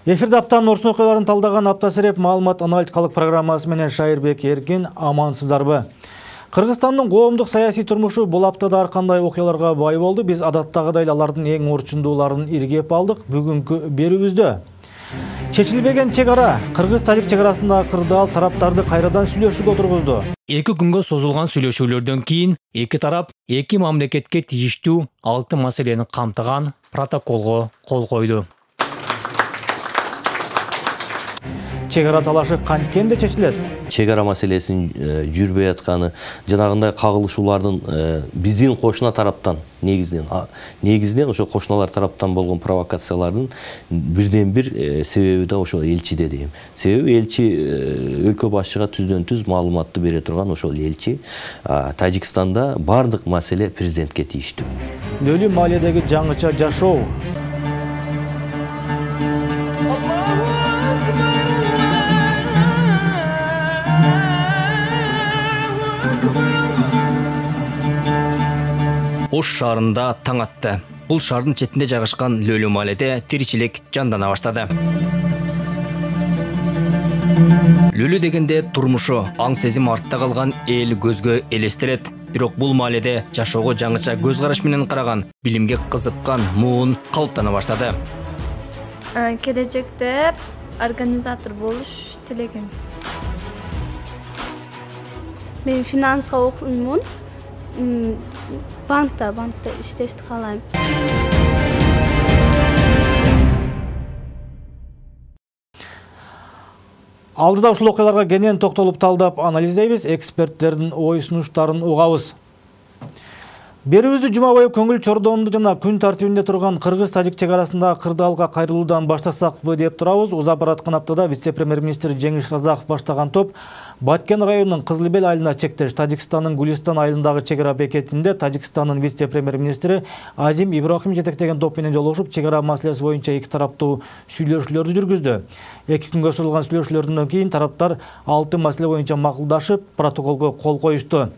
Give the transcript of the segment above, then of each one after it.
Эфирде аптанын орчун окуяларын талдаган Аптасыреп маалымат аналитикалык программасы менен Шайырбек Эркин, амансыздарбы? Кыргызстандын коомдук саясий турмушу бул аптада ар кандай окуяларга бай болду. Биз адаттагыдай алардын эң орчундууларын иргеп алдык. Бүгүнкү берүүбүздө чечилбеген чек ара, кыргыз-тажик чек арасындагы кырдаал тараптарды кайрадан сүйлөшүүгө отургузду. 2 күнгө созулган сүйлөшүүлөрдөн кийин эки тарап эки мамлекетке тийиштүү 6 маселени камтыган протоколго кол койду. Чек ара талашы канткенде чечилет? Чек ара маселесин жүрбөй атканы, жанагындай кагылышуулардын биздин кошуна тараптан негизинен ошо кошуналар тараптан болгон провокациялардын бирден бир себеби да ошол элчиде дейм. Себеби элчи өлкө башчыга түздөн-түз маалыматты бере турган ошол элчи. Тажикстанда бардык маселе президентке тийиштүү. Нөлүү маалиядеги жаңыча жашоо. Ош шаарында таң атты. Бул шаардын четинде жайгашкан Лөлүү маалиде тиричилик жандана баштады. Лөлүү дегенде турмушу, аң сезим артта калган эл көзгө элестелет. Бирок бул маалиде жашоого жаңыча көз караш менен караган, билимге кызыккан муун калыптана баштады. Келечекте организатор болуш тилегим. Мен финанска окуймун. Банкта иштешти каалайм. Алдыда ушул окуяларга кенен токтолуп талдап анализдейбиз, эксперттердин ой сунуштарын угабыз. Берүүбүздү жума бою көңүл чордоонду жана күн тартибинде турган кыргыз-тажик чек арасындагы кырдаалга кайрылуудан баштасакпы деп турабыз. Узап бараткан аптада вице-премьер-министр Жеңиш Разаков баштаган топ Баткен районунун Кызылбел айылына чектеш Тажикстандын Гулистан айылындагы чек ара бекетинде Тажикстандын вице-премьер-министри Азим Ибрахим жетектеген топ менен жолугушуп, чек ара маселеси боюнча эки тараптуу сүйлөшүүлөрдү жүргүздү. 2 күнгө созулган сүйлөшүүлөрдөн кийин тараптар 6 маселе боюнча макулдашып, протоколго кол коюшту.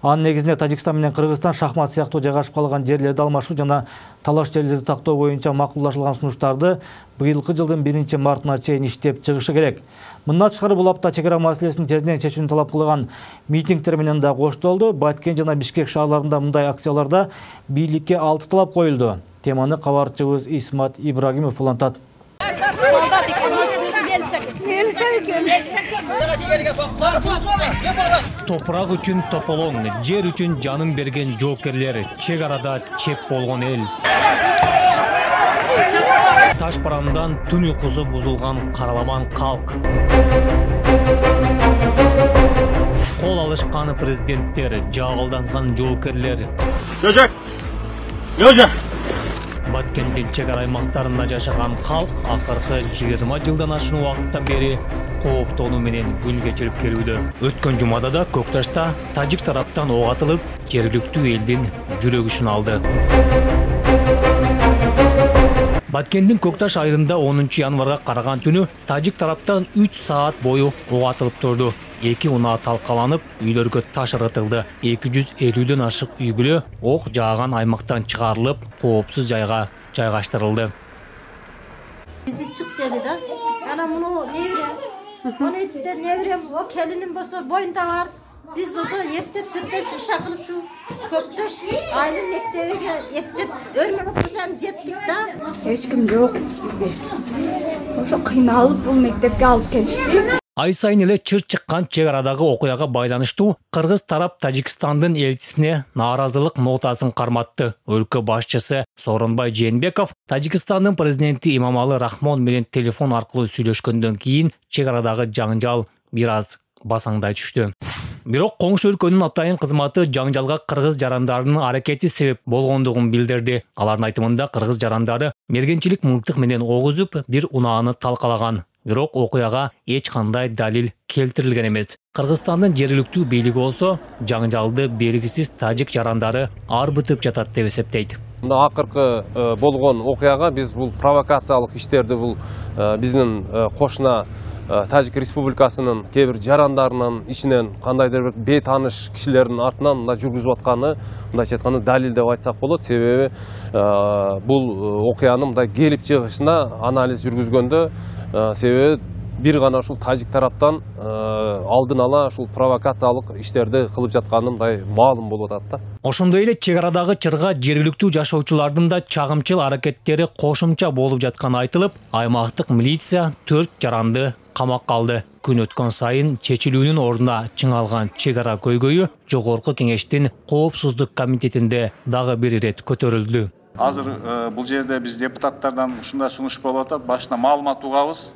Анын негизинде Тажикстан менен Кыргызстан шахмат сыяктуу жайгашып калган жерлерди алмашуу жана талаш жерлерди тактоо боюнча макулдашылган сунуштарды быйылкы жылдын 1-мартына чейин иштеп чыгышы керек. Мындан тышкары бул апта чек ара маселесин тезинен чечүүнү талап кылган митингдер менен да коштолду. Баткен жана Бишкек шаарларында мындай акцияларда бийликке 6 талап коюлду. Теманы кабарчыбыз Исмат Ибрагимов улантат. Топурак үчүн тополоң, жер үчүн жанын берген жоокерлер, чек арада чеп болгон эл. Таш барандан түн уйкусу бузулган караламан калк. Кол алышкан президенттер, жагылданган жоокерлер. Баткендин чек ара аймактарында жашаган калк акыркы 20 жылдан ашуун убакыттан бери кооптонуу менен күн кечирип келүүдө. Өткөн жумада да Көкташта тажик тараптан ок атылып, жергиликтүү элдин жүрөгүшүн алды. Баткендин Көкташ айылында 10 январга караган түнү тажик тараптан 3 саат бою ок атылып турду. 2 унаа талкаланып, үйлөргө таш ыргытылды. 250дөн ашык үй бүлө ок жааган аймактан чыгарылып, коопсуз жайга жайгаштырылды. Бизди чык деди да. Ана муну неберем, о келиним болсо боюнда бар. Биз болсо эптеп-сүртеп иши кылып шу Көктөш айылын мектебиге эптеп өрмөкөсөм жеттик да. Эч ким жок бизде. Ошо кыйналып бул мектепке алып келишти. Ай сайын эле чыр чыккан чек арадагы окуяга байланыштуу кыргыз тарап Тажикстандын элчисине нааразылык нотасын карматты. Өлкө башчысы Сооронбай Жээнбеков Тажикстандын президенти Имамалы Рахмон менен телефон аркылуу сүйлөшкөндөн кийин чек арадагы жаңжал бир аз басаңдай түштү. Бирок коңшу өлкөнүн атайын кызматы жаңжалга кыргыз жарандарынын аракети себеп болгондугун билдирди. Алардын айтымында кыргыз жарандары мергенчилик мылтык менен ок үзүп, бир унааны талкалаган. Бирок окуяга эч кандай далил келтирилген эмес. Кыргызстандын жергиликтүү бийлиги болсо жаңжалды белгисиз тажик жарандары арбытып жатат деп эсептейт. Мына акыркы болгон окуяга биз бул провокациялык иштерди бул биздин кошуна Тажик Республикасынын кээ бир жарандарынын ичинен кандайдыр бир бейтааныш кишилердин артынан мындай жүргүзүп атканы, мындайча айтканда далил деп айтсак болот. Себеби бул окуянын мындай келип чыгышына анализ жүргүзгөндө себеби бир гана ушул тажик тараптан алдын ала ушул провокациялык иштерди кылып жатканы мындай маалым болуп атат да. Ошондой эле чек арадагы чырга жергиликтүү жашоочулардын да чагымчыл аракеттери кошумча болуп жатканы айтылып, аймактык милиция 4 жаранды камакка алды. Күн өткөн сайын чечилүүнүн ордуна чыңалган чек ара көйгөйү Жогорку Кеңештин Коопсуздук комитетинде дагы бир ирет көтөрүлдү. Азыр бул жерде биз депутаттардан ушундай сунуш болуп атат. Башына маалымат угабыз.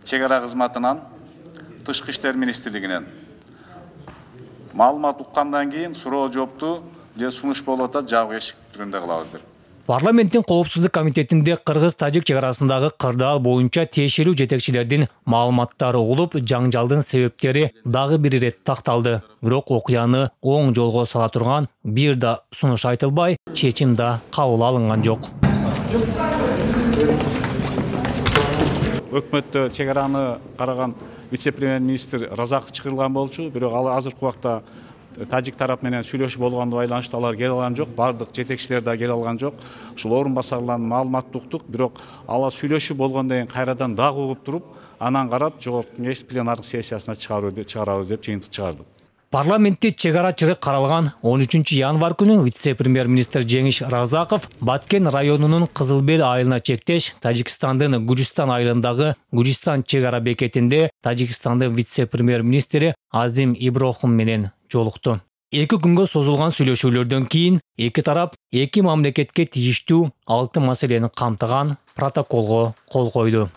Чек ара кызматынан, Тышкы иштер министрлигинен. Маалымат уккандан кийин суроо жоопту же сунуш болуп атат, жабык эшик түрүндө кылабыз деп. Парламенттин Коопсуздук комитетинде кыргыз-тажик чек арасындагы кырдаал боюнча тиешелүү жетекчилердин маалыматтары угулуп, жаңжалдын себептери дагы бир ирет такталды. Бирок окуяны оң жолго сала турган бир да сунуш айтылбай, чечим да кабыл алынган жок. Өкмөттө чек араны караган вице-премьер-министр Разаков чыгарылган болчу, бирок ал азыркы убакта тажик тарап менен сүйлөшүү болгондо байланыштуу алар келе алган жок, бардык жетекчилер да келе алган жок. Ушул орун басарлардын маалыматты уктук, бирок алар сүйлөшүү болгондон кийин кайрадан дагы угуп туруп, анан карап Жогорку Кеңеш пленардык сессиясына чыгарабыз деп жыйынтык чыгардык. Парламентте чек ара чырык каралган 13 январь күнү вице-премьер-министр Жеңиш Разаков Баткен районунун Кызылбел айылына чектеш Тажикстандын Гужистан айылындагы Гужистан чек ара бекетинде Тажикстандын вице-премьер-министри Азим Иброхим менен жолукту. 2 күнгө созулган сүйлөшүүлөрдөн кийин эки тарап эки мамлекетке тийиштүү 6 маселени камтыган протоколго кол койду.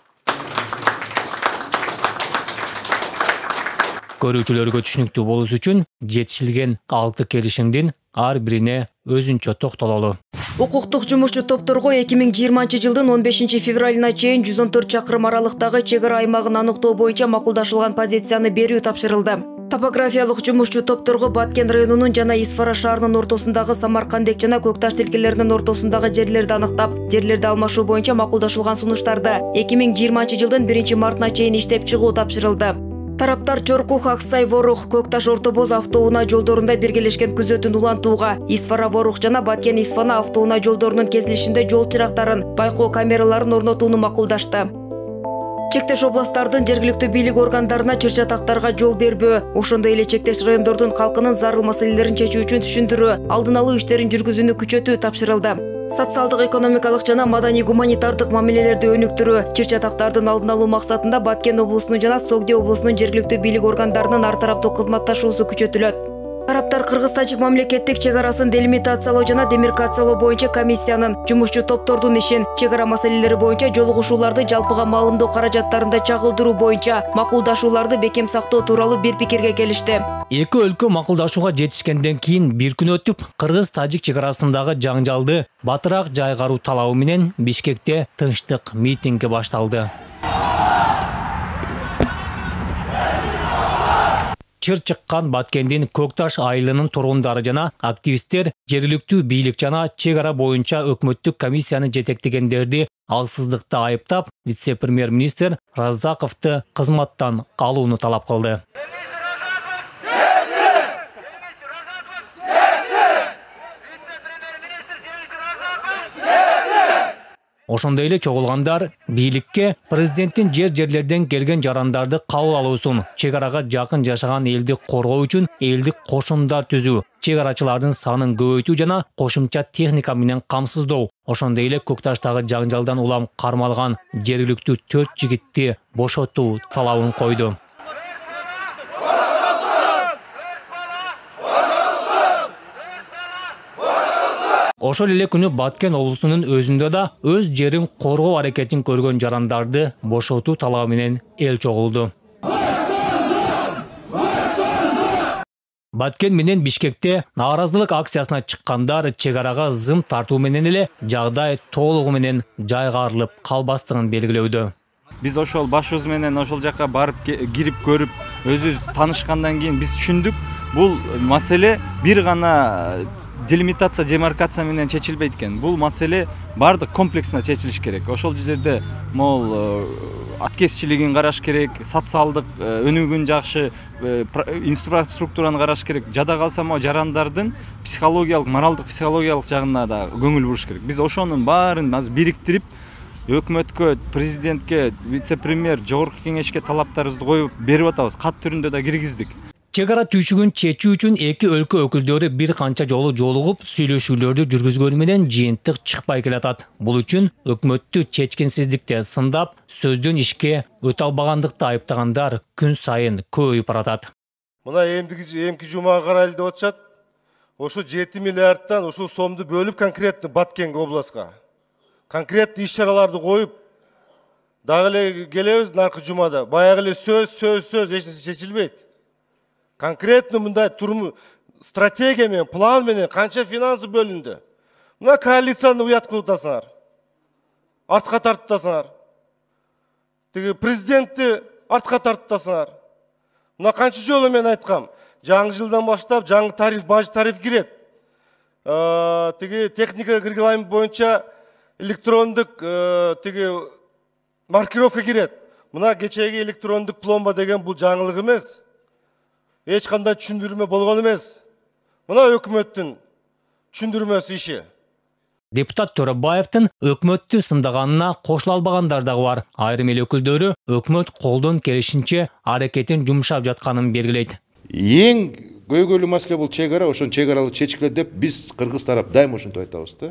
Көрүүчүлөргө түшүнүктүү болуш үчүн жетишилген 6 келишимдин ар бирине өзүнчө токтололу. Укуктук жумушчу топторго 2020-жылдын 15 февралына чейин 114 чакырым аралыктагы чек ара аймагын аныктоо боюнча макулдашылган позицияны берүү тапшырылды. Топографиялык жумушчу топторго Баткен районунун жана Исфара шаарынын ортосундагы Самаркандек жана Көкташ тилкелеринин ортосундагы жерлерди аныктап, жерлерди алмашуу боюнча макулдашылган сунуштарды 2020-жылдын 1-мартына чейин иштеп чыгуу тапшырылды. Тараптар Чоркух, Аксай, Ворух, Көкташ, Ортобоз автоунаа жолдорунда биргелешкен күзөтүүнү улантууга, Исфара, Ворух жана Баткен, Исфана автоунаа жолдорунун кесилишинде жол чырактарын, байкоо камераларын орнотууну макулдашты. Чектеш областтардын жергиликтүү бийлик органдарына чыр-чатактарга жол бербөө, ошондой эле чектеш райондордун калкынын зарыл маселелерин чечүү үчүн түшүндүрүү, алдын алуу иштерин жүргүзүүнү күчөтүү тапшырылды. Социалдык, экономикалык жана маданий гуманитардык мамилелерди өнүктүрүү, чыр-чатактардын алдын алуу максатында Баткен облусунун жана Согди облусунун жергиликтүү бийлик органдарынын ар тараптуу кызматташуусу күчөтүлөт. Тараптар кыргыз-тажик мамлекеттик чек арасын делимитациялоо жана демаркациялоо боюнча комиссиянын, жумушчу топтордун ишин, чек ара маселелери боюнча жолугушууларды жалпыга маалымдоо каражаттарында чагылдыруу боюнча макулдашууларды бекем сактоо тууралуу бир пикирге келишти. Эки өлкө макулдашууга жетишкенден кийин бир күн өтүп, кыргыз-тажик чек арасындагы жаңжалды батыраак жайгаруу талабы менен Бишкекте тынчтык митинги башталды. Чыр чыккан Баткендин Көкташ айылынын тургундары жана активисттер жергиликтүү бийлик жана чек ара боюнча өкмөттүк комиссияны жетектегендерди алсыздыкта айыптап, вице-премьер-министр Разаковду кызматтан алууну талап кылды. Ошондой эле чогулгандар бийликке президенттин жерлерден келген жарандарды кабыл алуусун, чек арага жакын жашаган элди коргоо үчүн элдик кошундар түзүү, чек арачылардын санын көбөйтүү жана кошумча техника менен камсыздоо. Ошондой эле Көкташтагы жаңжалдан улам кармалган жергиликтүү 4 жигитти бошотуу талабын койду. Ошол эле күнү Баткен облусунун өзүндө да өз жерин коргоо аракетин көргөн жарандарды бошотуу талабы менен эл чогулду. Баткен менен Бишкекте нааразылык акциясына чыккандар чек арага зым тартуу менен эле жагдай толугу менен жайгарылып калбастыгын белгилөөдө. Биз ошол башыбыз менен ошол жака барып кирип көрүп өзүбүз таанышкандан кийин биз түшүндүк. бул маселе бир гана делимитация, демаркация менен чечилбейт экен. Бул маселе бардык комплексине чечилиш керек. Ошол жерде могул аткезчилигин караш керек, социалдык өнүгүүнү жакшы инфраструктураны караш керек. Жада калса могу жарандардын психологиялык, моралдык, психологиялык жагына да көңүл буруш керек. Биз ошонун баарын азыр бириктирип, өкмөткө, президентке, вице-премьер, жогорку кеңешке талаптарыбызды коюп берип атабыз. Кат түрүндө да киргиздик. Чек ара түйшүгүн чечүү үчүн эки өлкө өкүлдөрү бир канча жолу жолугуп, сүйлөшүүлөрдү жүргүзгөнү менен жыйынтык чыкпай келатат. Бул үчүн өкмөттү чечкинсиздикте сындап, сөздөн ишке өтө албагандыкты айыптагандар күн сайын көбөйүп баратат. Мына эмки жумага карайлы деп атышат. Ошо 7 миллиардтан ушул сомду бөлүп конкретно Баткенге областка. Конкретно иш-чараларды коюп, дагы эле келебиз наркы жумада. Баягы эле сөз эч нерсе чечилбейт. Конкретно мындай стратегия менен, план менен канча финансы бөлүндү. Мына коалицияны уят кылып атасыңар. Артка тартып атасыңар. Тиги президентти артка тартып атасыңар. Мына канча жолу мен айткам. Жаңы жылдан баштап жаңы тариф, баж тариф кирет. Тиги техника регламент боюнча электрондук тиги маркировка кирет. Мына кечеги электрондук пломба деген бул жаңылык эмес. Эч кандай түшүндүрмө болгон эмес. Мына өкмөттүн түшүндүрмөсү иши. Депутат Төрөбаевдин өкмөттү сындаганына кошула албагандар дагы бар. Айрым эл өкүлдөрү өкмөт колдон келишинче аракетин жумшап жатканын белгилейт. Эң көйгөйлүү маселе бул чек ара, ошон чек аралык чечкиле деп биз кыргыз тарап дайыма ошентип айтабыз да.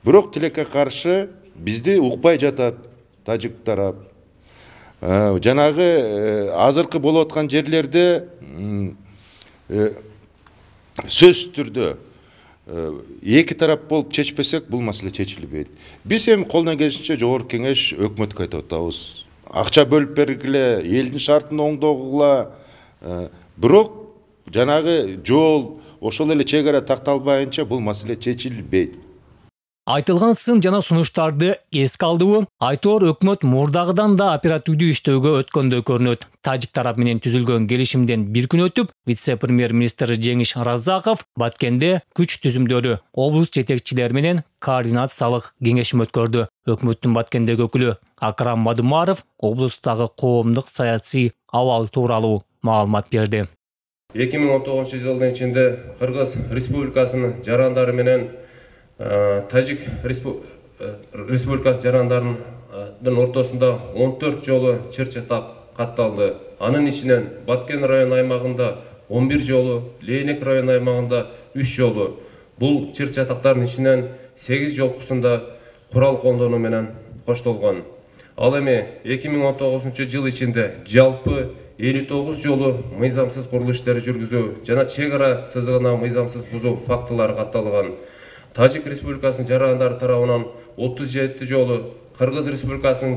Бирок тилекке каршы бизди укпай жатат тажик тарап. Жанагы азыркы болуп аткан жерлерде сөз түрдө эки тарап болуп чечпесек бул маселе чечилбейт. Биз эми колдон келишинче жогорку кеңеш өкмөткө айтып атабыз. Акча бөлүп бергиле, элдин шартын оңдогула. Бирок жанагы жол, ошол эле чек ара такталбайынча бул маселе чечилбейт. Айтылган сын жана сунуштарды эске алдыбы, айтор өкмөт мурдагыдан да оперативдүү иштөөгө өткөндөй көрүнөт. Тажик тарап менен түзүлгөн келишимден бир күн өтүп, вице-премьер-министр Жеңиш Разаков Баткенде күч түзүмдөрү, облус жетекчилери менен координациялык кеңешим өткөрдү. Өкмөттүн Баткендеги өкүлү Акрам Мадумаров облустагы коомдук саясий абал тууралуу маалымат берди. 2019 жылдын ичинде Кыргыз Республикасынын жарандары менен Тажик Республикасы жарандарынын ортосунда 14 жолу чыр-чатак катталды. Анын ичинен Баткен район аймагында 11 жолу, Лейнек район аймагында 3 жолу. Бул чыр-чатактардын ичинен 8 жолкусунда курал колдонуу менен коштолгон. Ал эми 2019 жыл ичинде жалпы 59 жолу мыйзамсыз курулуш иштери жүргүзүү жана чек ара сызыгына мыйзамсыз бузуу фактылары катталган. Тажик Республикасынын жарандары тарабынан 37 жолу, Кыргыз Республикасынын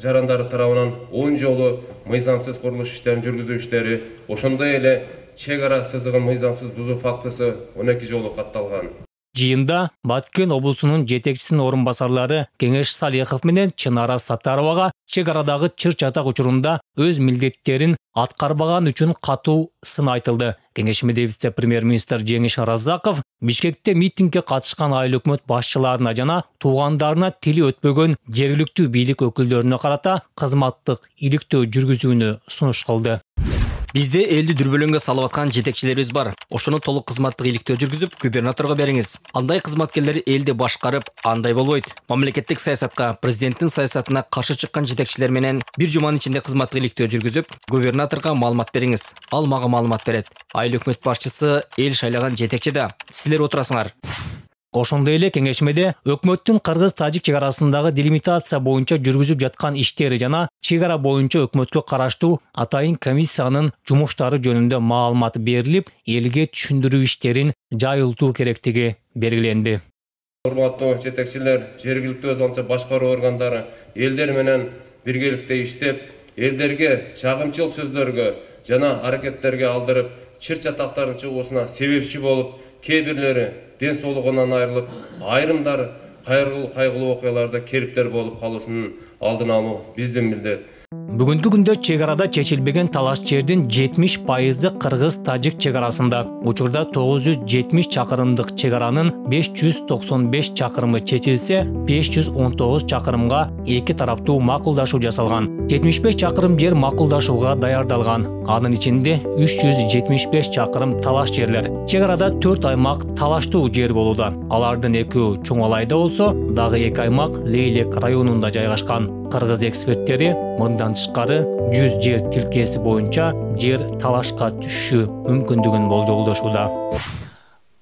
жарандары тарабынан 10 жолу мыйзамсыз курулуш иштерин жүргүзүү иштери, ошондой эле чек ара сызыгын мыйзамсыз бузуу фактысы 12 жолу катталган. Жыйында Баткен облусунун жетекчисинин орун басарлары Кеңеш Салихов менен Чынара Саттаровага чек арадагы чыр-чатак учурунда өз милдеттерин аткарбаган үчүн катуу сын айтылды. Кеңешмеде вице-премьер-министр Жеңиш Разаков Бишкекте митингге катышкан айыл өкмөт башчыларына жана туугандарына тили өтпөгөн жергиликтүү бийлик өкүлдөрүнө карата кызматтык иликтөө жүргүзүүнү сунуш кылды. Бизде элди дүрбөлөңгө салып аткан жетекчилерибиз бар. Ошону толук кызматтык иликтөө жүргүзүп, губернаторго бериңиз. Андай кызматкерлер элди башкарып, андай болбойт. Мамлекеттик саясатка, президенттин саясатына каршы чыккан жетекчилер менен бир жуманын ичинде кызматтык иликтөө жүргүзүп, губернаторго маалымат бериңиз. Ал мага маалымат берет. Айыл өкмөт башчысы эл шайлаган жетекчи да. Силер отурасыңар. Ошондой эле кеңешмеде өкмөттүн Кыргыз-Тажик чек арасындагы делимитация боюнча жүргүзүп жаткан иштери жана чек ара боюнча өкмөткө караштуу атайын комиссиянын жумуштары жөнүндө маалымат берилип, элге түшүндүрүү иштерин жайылтуу керектиги белгиленди. Урматтуу жетекчилер, жергиликтүү өзүнчө башкаруу органдары элдер менен биргеликте иштеп, элдерге чагымчыл сөздөргө жана аракеттерге алдырып, чыр-чатактардын чыгуусуна себепчи болуп, кээ бирлери ден соолугунан айрылып, айрымдары кайгылуу окуяларда кериптер болуп калуусунун алдын алуу биздин милдет. Бүгүнкү күндө чек арада чечилбеген талаш жердин 70% кыргыз-тажик чек арасында. Учурда 970 чакырымдык чек аранын 595 чакырымы чечилсе, 519 чакырымга эки тараптуу макулдашуу жасалган. 75 чакырым жер макулдашууга даярдалган. Анын ичинде 375 чакырым талаш жерлер. Чек арада 4 аймак талаштуу жер болууда. Алардын экөө Чоңалайда болсо, дагы 2 аймак Лейлек районунда жайгашкан. Кыргыз эксперттери мындан тышкары 100 жер тилкеси боюнча жер талашка түшүшү мүмкүндүгүн болжолдошууда.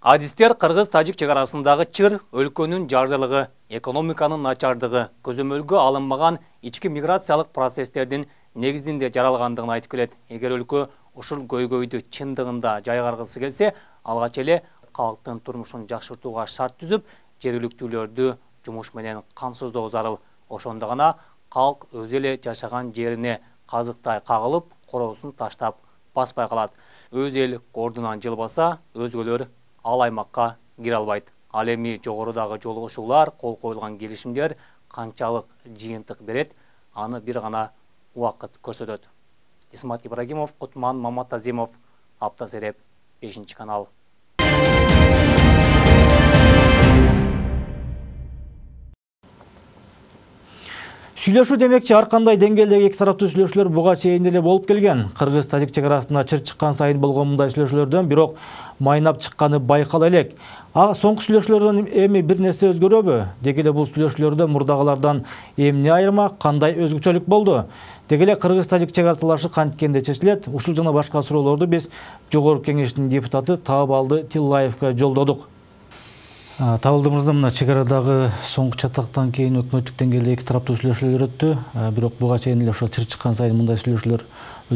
Адистер кыргыз-тажик чек арасындагы чыр өлкөнүн жардылыгы, экономиканын начардыгы, көзөмөлгө алынмаган ички миграциялык процесстердин негизинде жаралгандыгын айтып келет. Эгер өлкө ушул көйгөйдү чындыгында жайгаргысы келсе, алгач эле калктын турмушун жакшыртууга шарт түзүп, жергиликтүүлөрдү жумуш менен камсыздоо зарыл. Ошондо гана калк өзү эле жашаган жерине казыктай кагылып, короосун таштап баспай калат. Өз эл ордунан жылбаса, өзгөлөр ал аймакка кире албайт. Ал эми жогорудагы жолугушуулар, кол коюлган келишимдер канчалык жыйынтык берет, аны бир гана убакыт көрсөтөт. Исмат Ибрагимов, Кутман Маматазимов, Аптасереп, 5 канал. Сүйлөшүү демекчи ар кандай деңгээлдеги эки тараптуу сүйлөшүүлөр буга чейин эле болуп келген. Кыргыз-тажик чек арасында чыр чыккан сайын болгон мындай сүйлөшүүлөрдөн бирок майнап чыкканы байкала элек. Соңку сүйлөшүүлөрдөн эми бир нерсе өзгөрөбү? Деги эле бул сүйлөшүүлөрдө мурдагылардан эмне айырма, кандай өзгөчөлүк болду? Деги эле кыргыз-тажик чек ара талашы канткенде чечилет? Ушул жана башка суроолорду биз Жогорку Кеңештин депутаты Таабалды Тиллаевга жолдодук. Табылды мырза, мына чек арадагы соңку чатактан кийин өкмөттүк деңгээлде эки тараптуу сүйлөшүүлөр өттү. Бирок буга чейин эле ошо чыр чыккан сайын мындай сүйлөшүүлөр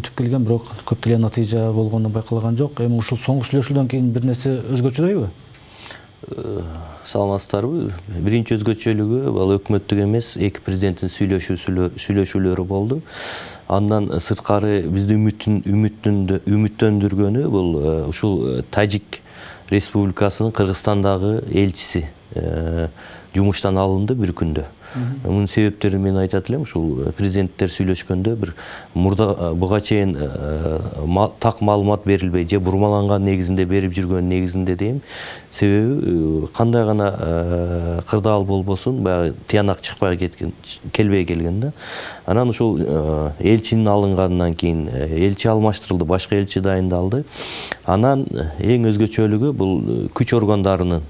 өтүп келген, бирок көптөгөн натыйжа болгону байкалган жок. Эми ушул соңку сүйлөшүүдөн кийин бир нерсе өзгөчөдөйбү? Саламатсыздарбы? Биринчи өзгөчөлүгү бул өкмөттүк эмес, эки президенттин сүйлөшүүлөрү болду. Андан сырткары бизди үмүттөндүргөнү бул ушул Тажик Республикасынын Кыргызстандагы элчиси жумуштан алынды бир күндө. Мунун себептерин мен айтат элем. Ушул президенттер сүйлөшкөндө бир буга чейин так маалымат берилбей же бурмаланган негизинде берип жүргөн негизинде дейм. Себеби кандай гана кырдаал болбосун, баягы тыянак чыкпай келбей келген да. Анан ушул элчинин алынгандан кийин элчи алмаштырылды, башка элчи дайындалды. Анан эң өзгөчөлүгү бул күч органдарынын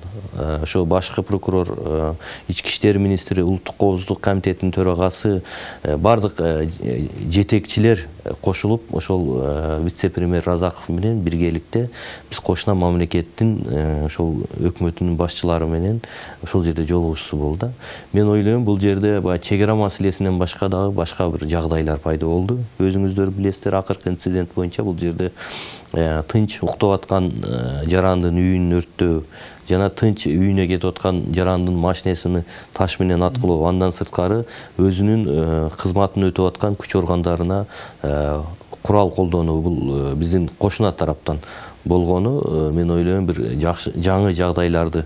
ошо башкы прокурор, ички иштер министри, улуттук коопсуздук комитетинин төрагасы, бардык жетекчилер кошулуп, ошол вице-премьер Разаков менен биргеликте биз кошуна мамлекеттин ошол өкмөтүнүн башчылары менен ошол жерде жолугушуусу болду. Мен ойлойм, бул жерде чек ара маселесинен башка дагы башка бир жагдайлар пайда болду. Өзүңүздөр билесиздер, акыркы инцидент боюнча бул жерде тынч уктап аткан жарандын үйүн өрттөө жана тынч үйүнө кетип аткан жарандын машинесин таш менен аткылоо, андан сырткары өзүнүн кызматын өтөп аткан күч органдарына курал колдонуу бул биздин кошуна тараптан болгону, мен ойлойм, бир жаңы жагдайларды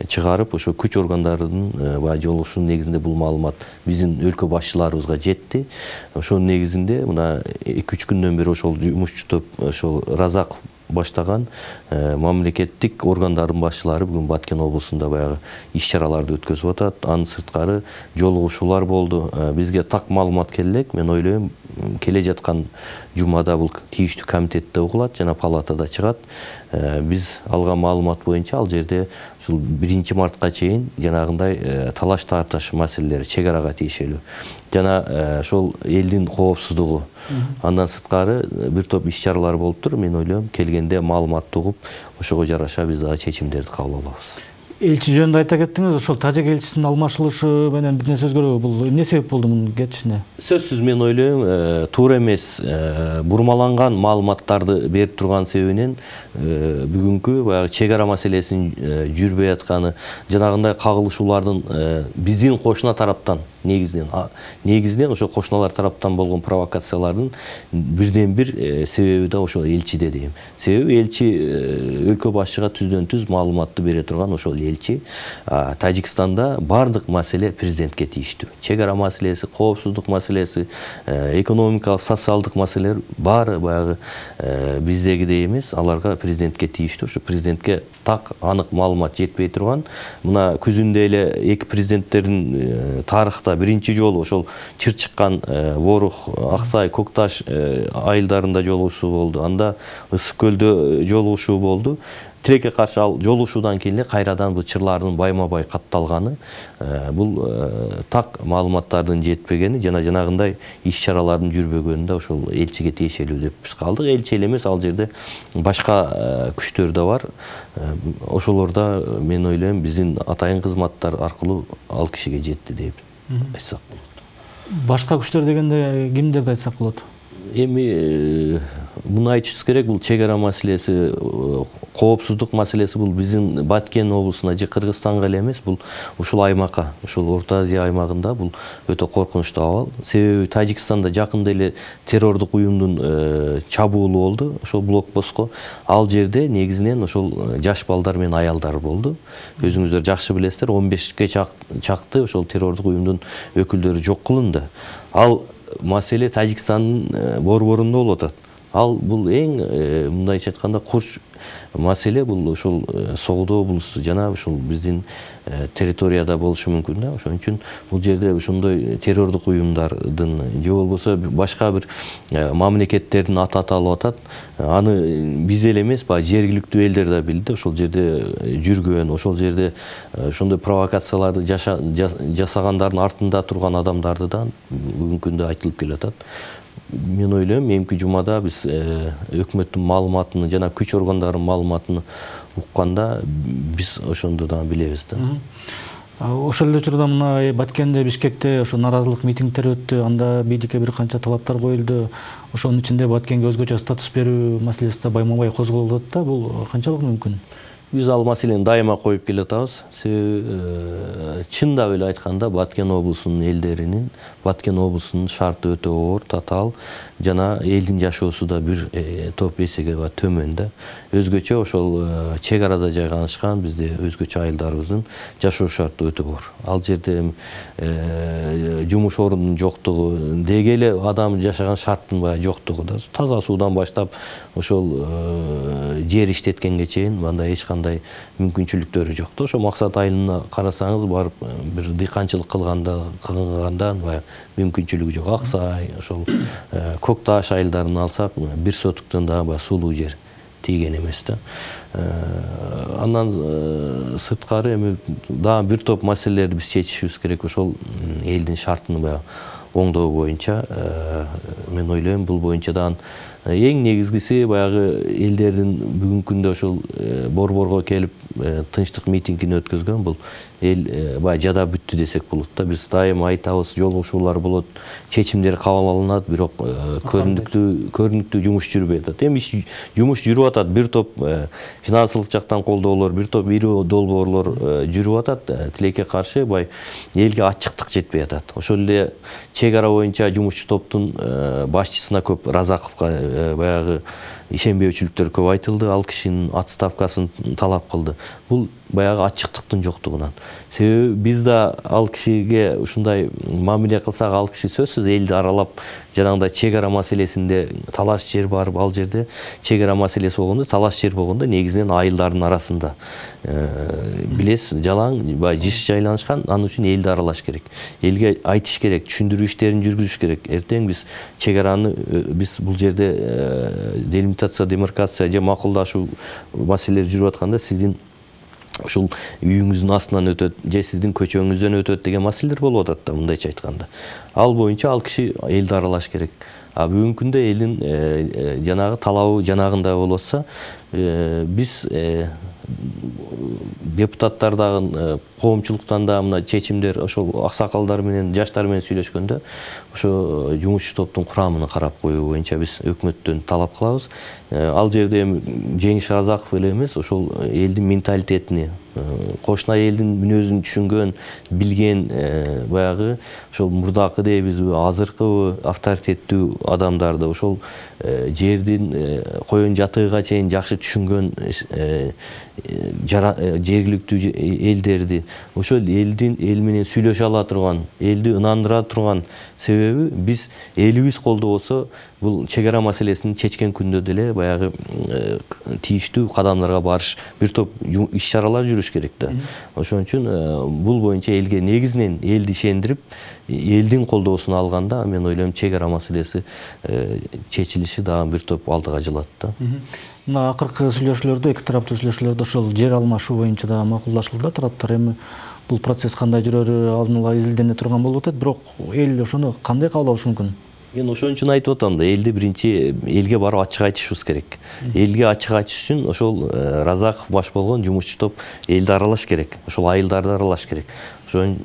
чыгарып, ошо күч органдарынын жолугушуунун негизинде бул маалымат биздин өлкө башчыларыбызга жетти. Ошонун негизинде мына 2-3 күндөн бери ошол жумушчу топ, ошол Разаков баштаган мамлекеттик органдардын башчылары бүгүн Баткен облусунда баягы иш-чараларды өткөзүп атат. Анын сырткары жолугушуулар болду. Бизге так маалымат келек. Мен ойлойм, келе жаткан жумада бул тийиштүү комитетте угулат жана палатада чыгат. Биз алган маалымат боюнча ал жерде ушул 1 мартка чейин жанагындай талаш тартыш маселелери чек арага тиешелүү жана ошол элдин коопсуздугу, андан сырткары бир топ иш-чаралар болуп тур. Мен ойлойм, келгенде маалыматты угуп, ошого жараша биз дагы чечимдерди кабыл алабыз. Элчи жөнүндө айта кеттиңиз, ошол тажик элчисинин алмашылышы менен бир нерсе өзгөрөбү? Бул эмне себеп болду мунун кетишине? Сөзсүз мен ойлойм, туура эмес. Бурмаланган маалыматтарды берип турган себебинен бүгүнкү баягы чек ара маселесинин жүрбөй атканы, жанагындай кагылышуулардын биздин кошуна тараптан негизинен ошо кошуналар тараптан болгон провокациялардын бирден бир себеби да ошол элчиде дейм. Себеби элчи өлкө башчыга түздөн түз маалыматты бере турган ошол элчи. Тажикстанда бардык маселе президентке тийиштүү. Чек ара маселеси, коопсуздук маселеси, экономикалык, социалдык маселелер баары баягы биздегидей эмес, аларга президентке тийиштүү. Ошо президентке так анык маалымат жетпей турган. Мына күзүндө эле эки президенттердин тарыхта биринчи жолу ошол чыр чыккан Ворух, Аксай, Кокташ айылдарында жолугушуу болду. Анда Ысык көлдө жолугушуу болду. Тилекке каршы ал жолугушуудан кийин эле кайрадан бул чырлардын байма-бай катталганы, бул так маалыматтардын жетпегени жана жанагындай иш-чаралардын жүрбөгөнү да ошол элчиге тиешелүү деп биз калдык. Элчи эле эмес, ал жерде башка күчтөр да бар. Ошолорда мен ойлойм биздин атайын кызматтар аркылуу ал кишиге жетти деп айтсак болот. Башка күчтөр дегенде кимдерди айтсак болот? Эми муну айтышыбыз керек, бул чек ара маселеси, коопсуздук маселеси бул биздин Баткен облусуна же Кыргызстанга эле эмес, бул ушул аймакка, ушул Орто Азия аймагында бул өтө коркунучтуу абал. Себеби Тажикстанда жакында эле террордук уюмдун чабуулу болду, ошол блокпостко. Ал жерде негизинен ошол жаш балдар менен аялдар болду. Өзүңүздөр жакшы билесиздер, 15ке чакты ошол террордук уюмдун өкүлдөрү жок кылынды. Ал маселе Тажикстандын борборунда болуп атат. Ал бул эң мындайча айтканда курч маселе, бул ошол Согдо облусу жана ушул биздин территорияда болушу мүмкүн да. Ошон үчүн бул жерде ошондой террордук уюмдардын же болбосо башка бир мамлекеттердин аты аталып атат. Аны биз эле эмес, баягы жергиликтүү элдер да билди. Ошол жерде жүргөн, ошол жерде ошондой провокацияларды жасагандардын артында турган адамдарды да бүгүнкү күндө айтылып келатат. Мен ойлойм, эмки жумада биз өкмөттүн маалыматын жана күч органдарынын маалыматын укканда биз ошондо да билебиз да. Ошол эле учурда мына Баткенде, Бишкекте ошо нааразылык митингдер өттү. Анда бийликке бир канча талаптар коюлду. Ошонун ичинде Баткенге өзгөчө статус берүү маселеси да байма-бай козголуп атат да. Бул канчалык мүмкүн? Биз ал маселени дайыма коюп келатабыз. Себеби чындап эле айтканда Баткен облусунун элдеринин, Баткен облусунун шарты өтө оор, татаал жана элдин жашоосу да бир топ эсеге төмөн да. Өзгөчө ошол чек арада жайгашкан бизде өзгөчө айылдарыбыздын жашоо шарты өтө оор. Ал жерде жумуш орунунун жоктугу, деги эле адам жашаган шарттын баягы жоктугу да. Таза суудан баштап ошол жер иштеткенге чейин мындай эч кандай мүмкүнчүлүктөрү жок да. Ошо Максат айылына карасаңыз, барып бир дыйканчылык кылганда баягы мүмкүнчүлүгү жок. Аксай, ошол Кокташ айылдарын алсак, бир сотуктан да баягы сулуу жер тийген эмес да. Андан сырткары эми дагы бир топ маселелерди биз чечишибиз керек. Ошол элдин шартын баягы оңдоо боюнча мен ойлойм, бул боюнча дагы эң негизгиси баягы элдердин бүгүнкү күндө ошол борборго келип тынчтык митингин өткөзгөн, бул эл баягы жада бүттү десек болот да. Биз дайыма айтабыз, жолугушуулар болот, чечимдер кабыл алынат, бирок көрүнүктүү жумуш жүрбөй атат. Эми жумуш жүрүп атат, бир топ финансылык жактан колдоолор, бир топ ири долбоорлор жүрүп атат. Тилекке каршы бай элге ачыктык жетпей атат. Ошол эле чек ара боюнча жумушчу топтун башчысына көп, Разаковго баягы ишенбөөчүлүктөр көп айтылды. Ал кишинин отставкасын талап кылды. Бул баягы ачыктыктын жоктугунан. Себеби биз да ал кишиге ушундай мамиле кылсак, ал киши сөзсүз элди аралап, жанагындай чек ара маселесинде талаш жер барып, ал жерде чек ара маселеси болгондо, талаш жер болгондо негизинен айылдардын арасында. Билесиз, жалаң баягы жыш жайланышкан, анын үчүн элди аралаш керек. Элге айтыш керек, түшүндүрүү иштерин жүргүзүш керек. Эртең биз чек араны, биз бул жерде делимитация, демаркация же макулдашуу маселелери жүрүп атканда, сиздин ушул үйүңүздүн астынан өтөт же сиздин көчөңүздөн өтөт деген маселелер болуп атат да, мындайча айтканда. Ал боюнча ал киши элди аралаш керек. Бүгүнкү күндө элдин жанагы талабы жанагындай болуп атса, биз депутаттар дагы, коомчулуктан да мына чечимдер ошол аксакалдар менен, жаштар менен сүйлөшкөндө ошо жумушчу топтун курамын карап коюу боюнча биз өкмөттөн талап кылабыз. Ал жерде Жеңиш Разаков эле эмес, ошол элдин менталитетини, кошуна элдин мүнөзүн түшүнгөн, билген баягы ошол мурдакы дейбизби, азыркы авторитеттүү адамдарды, ошол жердин коен жатыгыга чейин жакшы түшүнгөн жергиликтүү элдерди, ошол эл менен сүйлөшө ала турган, элди ынандыра турган себеби биз элибиз колдобосо бул чек ара маселесин чечкен күндө деле баягы тийиштүү кадамдарга барыш, бир топ иш-чаралар жүрүш керек да. Ошон үчүн бул боюнча элге негизинен элди ишендирип, элдин колдоосун алганда мен ойлойм чек ара маселеси чечилиши дагы бир топ алдыга жылат да. Мына акыркы сүйлөшүүлөрдө, эки тараптуу сүйлөшүүлөрдө ошол жер алмашуу боюнча дагы макулдашылды. Тараптар эми бул процесс кандай жүрөрү алдын ала изилдене турган болуп атат, бирок эл ошону кандай кабыл алышы мүмкүн? Мен ошон үчүн айтып атам да, элди биринчи элге барып ачык айтышыбыз керек. Элге ачык айтыш үчүн ошол Разаков баш болгон жумушчу топ элди аралаш керек. Ошол айылдарды аралаш керек. Ошон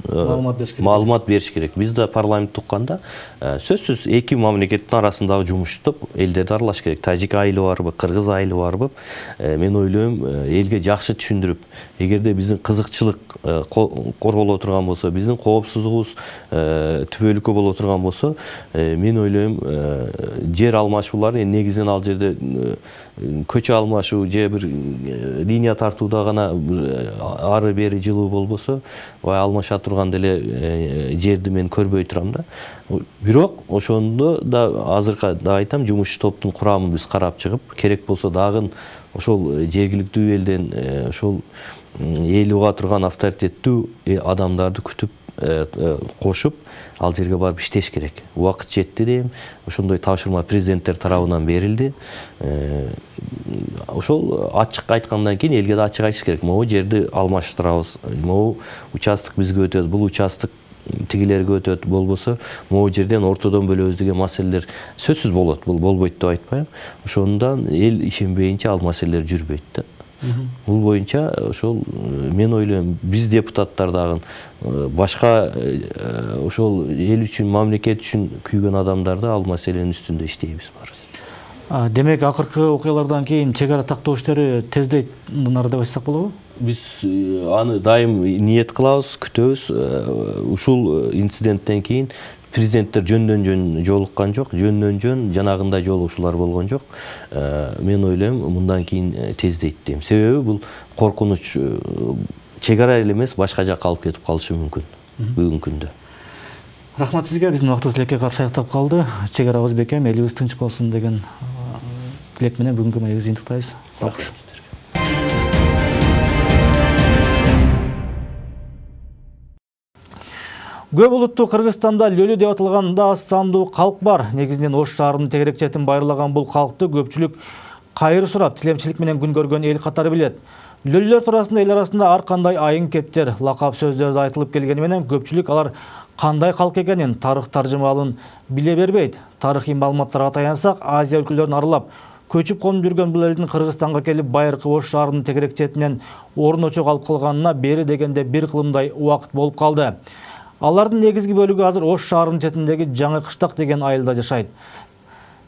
маалымат бериш керек. Биз да парламент укканда сөзсүз эки мамлекеттин арасындагы жумушчу топ элдерди аралаш керек. Тажик айылы барбы, кыргыз айылы барбы, мен ойлойм элге жакшы түшүндүрүп, эгерде биздин кызыкчылык корголо турган болсо, биздин коопсуздугубуз түбөлүккө боло турган болсо, мен ойлойм жер алмашуулары негизинен ал жерде көчө алмашуу же бир линия тартууда гана ары бери жылуу болбосо, алмаша турган деле жерди мен көрбөй турам да. Бирок ошондо да азыркы да айтам, жумушчу топтун курамын биз карап чыгып, керек болсо дагы ошол жергиликтүү элден ошол эл уга турган авторитеттүү адамдарды күтүп кошуп ал жерге барып иштеш керек. Убакыт жетти дейм. Ошондой тапшырма президенттер тарабынан берилди. Ошол ачык айткандан кийин элге да ачык айтыш керек. Могу жерди алмаштырабыз. Могу участок бизге өтөт, бул участок тигилерге өтөт, болбосо могу жерден ортодон бөлөбүз деген маселелер сөзсүз болот. Бул болбойт деп айтпайм. Ошондон эл ишенбейинче ал маселелер жүрбөйт да. Бул боюнча ошол мен ойлойм биз депутаттар дагы башка ошол эл үчүн, мамлекет үчүн күйгөн адамдарды ал маселенин үстүндө иштейбиз барыбыз. Демек акыркы окуялардан кийин чек ара тактоо иштери тездейт нары деп айтсак болобу? Биз аны дайым ниет кылабыз, күтөбүз. Ушул инциденттен кийин президенттер жөн жолуккан жок, жөн жанагындай жолугушуулар болгон жок. Мен ойлойм мындан кийин тездейт дейм. Себеби бул коркунуч чек ара эле эмес, башка жакка алып кетип калышы мүмкүн бүгүнкү күндө. Рахмат сизге, биздин убактыбыз элекке каршы аяктап калды. Чек арабыз бекем, элибиз тынч болсун деген тилек менен бүгүнкү маегибизди жыйынтыктайбыз. Рахмат. Көп улуттуу Кыргызстанда лөлү деп аталганда аз сандуу калк бар. Негизинен Ош шаарынын тегерекчетин байырлаган бул калкты көпчүлүк кайыр сурап, тилемчилик менен күн көргөн эл катары билет. Лөлүлөр туурасында эл арасында ар кандай айың кептер, лакап сөздөрдү айтылып келгени менен көпчүлүк алар кандай калк экенин, тарых таржымалын биле бербейт. Тарыхый маалыматтарга таянсак, Азия өлкөлөрүн аралап көчүп конуп жүргөн бул элдин Кыргызстанга келип байыркы Ош шаарынын тегерекчетинен орун очок алып калганына бери дегенде бир кылымдай убакыт болуп калды. Алардын негизги бөлүгү азыр Ош шаарынын четиндеги Жаңы Кыштак деген айылда жашайт.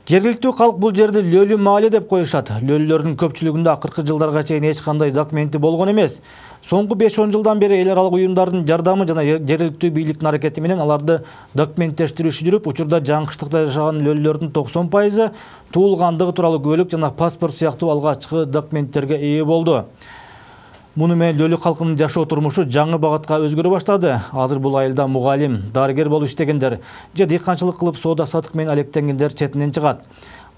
Жергиликтүү калк бул жерди Лөлү маале деп коюшат. Лөлүлөрдүн көпчүлүгүндө акыркы жылдарга чейин эч кандай документи болгон эмес. Соңку 5-10 жылдан бери эл аралык уюмдардын жардамы жана жергиликтүү бийликтин аракети менен аларды документтештирүү иши жүрүп, учурда Жаңы Кыштакта жашаган лөлүлөрдүн 90% туулгандыгы тууралуу куәлик жана паспорт сыяктуу алгачкы документтерге ээ болду. Муну менен лөлү калкынын жашоо турмушу жаңы багатка өзгөрө баштады. Азыр бул айылда мугалим, дарыгер болуп иштегендер же дыйканчылык кылып соода сатык менен алектенгендер четинен чыгат.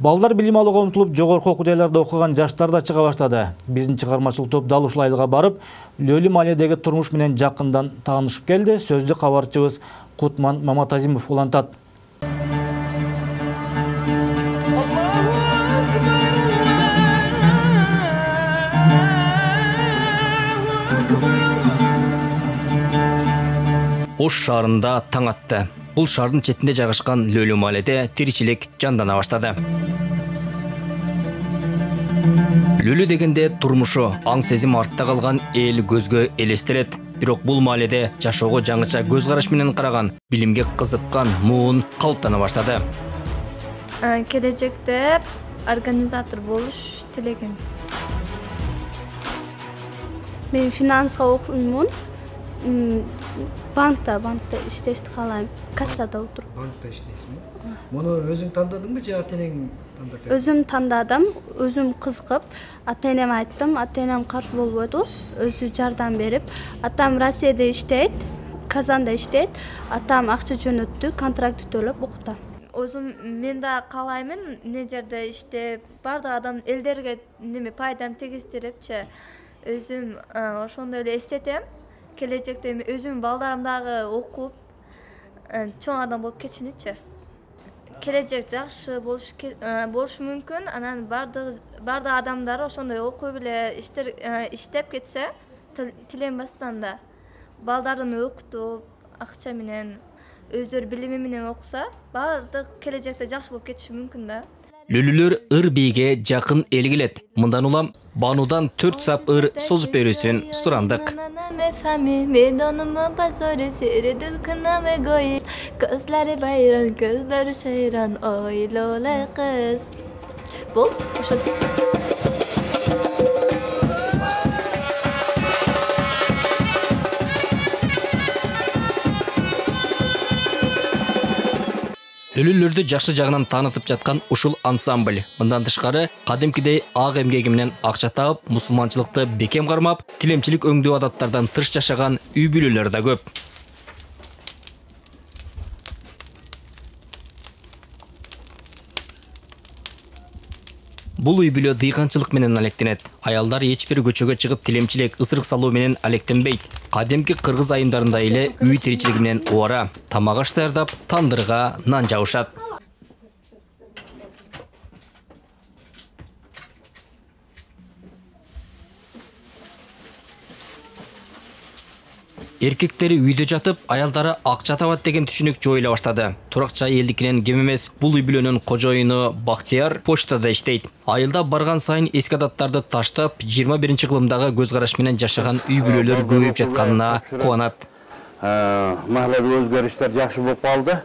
Балдар билим алууга умтулуп жогорку окуу жайларда окуган жаштар да чыга баштады. Биздин чыгармачылык топ дал ушул айылга барып, Лөлү мааледеги турмуш менен жакындан таанышып келди. Сөздү кабарчыбыз Кутман Маматазимов улантат. Ош шаарында таң атты. Бул шаардын четинде жайгашкан Лөлү мааледе тиричилик жандана баштады. Лөлү дегенде турмушу, аң сезим артта калган эл көзгө элестирет. Бирок бул мааледе жашоого жаңыча көз караш менен караган, билимге кызыккан муун калыптана баштады. Келечекте организатор болуш тилегим. Мен финанска окуймун. Банкта иштешти каалайм. Кассада отуруп. Банкта иштейсиңби? Муну өзүң тандадыңбы же ата-энең тандап берди? Өзүм тандадым, өзүм кызыгып, ата-энеме айттым, ата-энем каршы болбоду, өзү жардам берип. Атам Россияда иштейт, Казанда иштейт, атам акча жөнөттү, контракт төлөп окутам. Өзүм мен да каалаймын, эмне жерде иштеп, бардык адам элдерге пайдам тийгиздирипчи, өзүм ошондой эле эстетем. Келечекте өзүм балдарым дагы окуп, чоң адам болуп кетишиничи. Келечек жакшы болушу мүмкүн. Анан бардык адамдар ошондой окуп эле иштеп кетсе, тиленбастан да балдарын окутуп, акча менен, өздөрү билими менен окуса, бардык келечекте жакшы болуп кетиши мүмкүн да. Лүлүлөр ыр бийге жакын эл келет. Мындан улам Банудан 4 сап ыр созуп берүүсүн сурандык. Бул ошо Лүлүлөрдү жакшы жагынан таанытып жаткан ушул ансамбль. Мындан тышкары, кадимкидей ак эмгеги менен акча таап, мусулманчылыкты бекем кармап, тилемчилик өңдүү адаттардан тыш жашаган үй бүлөлөр да көп. Бул үй бүлө дыйканчылык менен алектенет. Аялдар эч бир көчөгө чыгып тилемчилик, ысырык салуу менен алектенбейт. Кадимки кыргыз айымдарында эле үй тиричилиги менен убара, тамак аш даярдап, тандырга нан жабышат. Эркектери үйдө жатып, аялдары акча табат деген түшүнүк жоюла баштады. Туракча элдикинен кем эмес, бул үй бүлөнүн кожоюну Бактияр почтада иштейт. Айылда барган сайын эски адаттарды таштап, 21 кылымдагы көз караш менен жашаган үй бүлөлөр көбөйүп жатканына кубанат. Махаллада өзгөрүштөр жакшы болуп калды.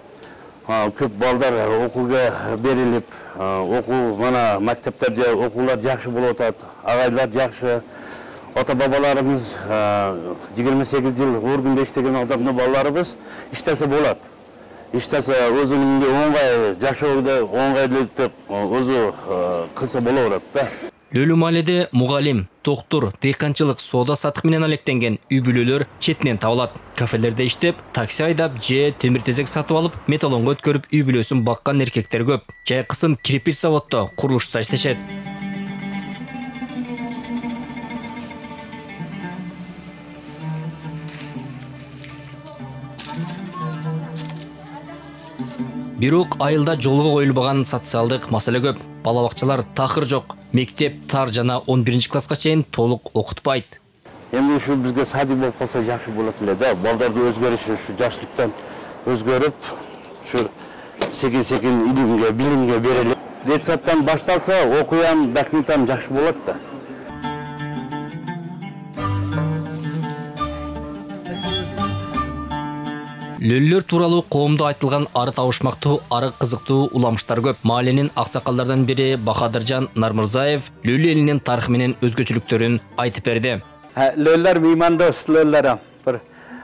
Көп балдар окууга берилип, окуу мана мектептерде окуулар жакшы болуп атат. Агайлар жакшы. Ата-бабаларымыз 28 жыл органда иштеген адамдын балдарыбыз иштесе болот. Иштесе өзүнүн оңгай жашоодо оңгайлытып өзү кылса боло берет да. Лөлү мааледе мугалим, доктур, дыйканчылык, соода сатык менен алектенген үй бүлөлөр четинен табылат. Кафелерде иштеп, такси айдап же темир тезек сатып алып, металлонго өткөрүп үй бүлөсүн баккан эркектер көп. Жайкысын кирпич заводдо, курулушта иштешет. Бирок айылда жолго коюлбаган социалдык маселе көп. Бала бакчалар такыр жок. Мектеп тар жана 11 класска чейин толук окутпайт. Эми ушу бизге садик болуп калса жакшы болот эле да. Балдарды өзгөрүшү ушу жаштыктан өзгөрүп, ушу секин илимге, билимге берилип, детсадтан башталса, окуям, документам жакшы болот да. Лөллөр тууралуу коомдо айтылган ары табышмактуу, ары кызыктуу уламыштар көп. Маалинин аксакалдардан бири Бахадыржан Нармырзаев Лөлү элинин тарыхы менен өзгөчөлүктөрүн айтып берди. Лөллөр меймандос лөллөр.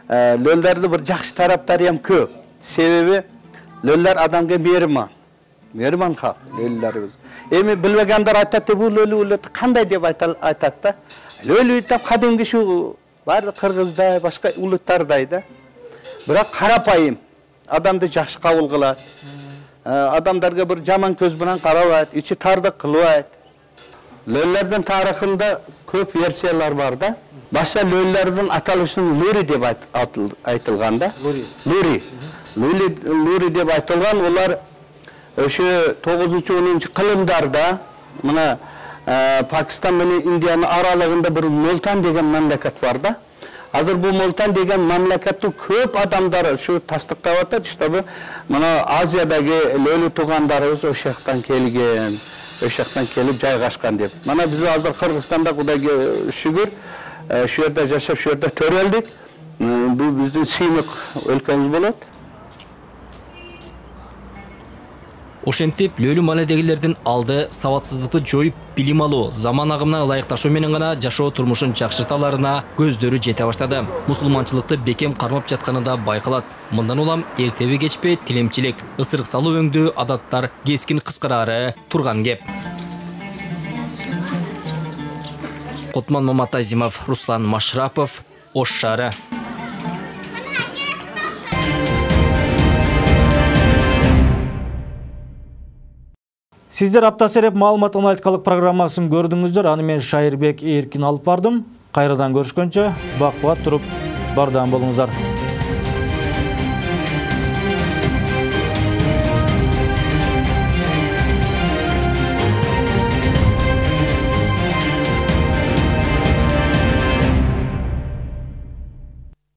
Лөллөрдүн бир жакшы тараптары ham көп. Себеби лөллөр адамга мейрман халк лөллөрүбүз. Эми билбегендер айтат, бул лөлү кандай деп айтат да. Лөлү деп кадимки ушу баардык кыргыздай, башка улуттардай да. Бирок карапайым, адамды жакшы кабыл кылат. Адамдарга бир жаман көз менен карабайт, ичи тардык кылбайт. Лөллөрдүн тарыхында көп версиялар бар да. Башка лөллөрдүн аталышын Лури деп айтылган да. Лури деп айтылган, олар ошо 9-10 кылымдарда мына Пакистан менен Индиянын аралыгында бир Мултан деген мамлекет бар да. Азыр бул Мултан деген мамлекеттин көп адамдары ушу тастыктап атат, чтобы мына Азиядагы лөлү туугандарыбыз ошол жактан келген, ошол жактан келип жайгашкан деп. Мана биз азыр Кыргызстанда Кудайга шүгүр, ошол жерде жашап, ошол жерде төрөлдүк. Бул биздин сыймык өлкөбүз болот. Ошентип лөлүү маанидегилердин алды сабатсыздыкты жоюп, билим алуу, заман агымына ылайыкташуу менен гана жашоо турмушун жакшырталарына көздөрү жете баштады. Мусулманчылыкты бекем кармап жатканы да байкалат. Мындан улам эртеби кечпей тилемчилик, ысырык салуу өңдүү адаттар кескин кыскарары турган кеп. Кутман Маматазимов, Руслан Машрапов, Ош шаары. Сиздер апта сереп маалымат аналитикалык программасын көрдүңүздөр. Аны мен Шайырбек Эркин алып бардым. Кайрадан көрүшкөнчө бак кубат туруп бардам болуңуздар.